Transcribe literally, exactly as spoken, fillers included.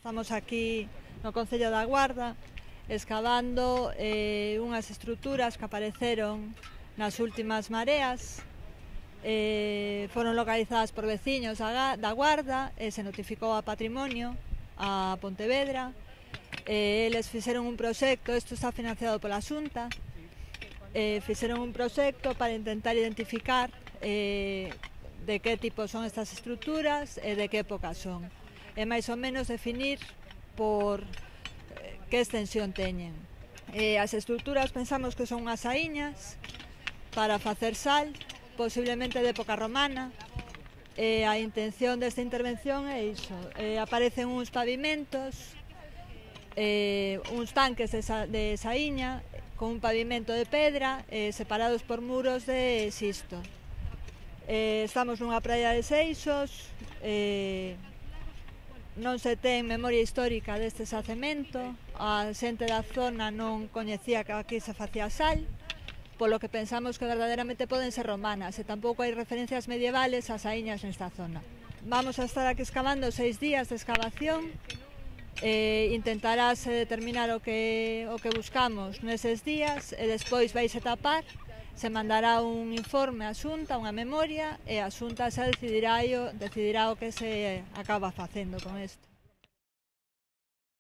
Estamos aquí no Concello da Guarda escavando eh, unhas estruturas que apareceron nas últimas mareas. Eh, foron localizadas por veciños da, da Guarda e se notificou a Patrimonio, a Pontevedra. Eh, eles fixeron un proxecto, isto está financiado pola Xunta, eh, fixeron un proxecto para intentar identificar eh, de que tipo son estas estruturas e de que época son, e máis ou menos definir por eh, que extensión teñen. Eh, as estruturas pensamos que son unhas saíñas para facer sal, posiblemente de época romana. Eh, a intención desta intervención é iso, eh, aparecen uns pavimentos, eh, uns tanques de, sa, de saíña con un pavimento de pedra eh, separados por muros de xisto. Eh, estamos nunha praia de Seixos, eh, non se ten memoria histórica deste xacemento, a xente da zona non coñecía que aquí se facía sal, polo que pensamos que verdadeiramente poden ser romanas e tampouco hai referencias medievales ás saíñas nesta zona. Vamos a estar aquí excavando seis días de excavación. Eh, intentarase determinar o que, o que buscamos neses días e despois vais a tapar, se mandará un informe á Xunta, unha memoria, e a Xunta xa decidirá, decidirá o que se acaba facendo con isto.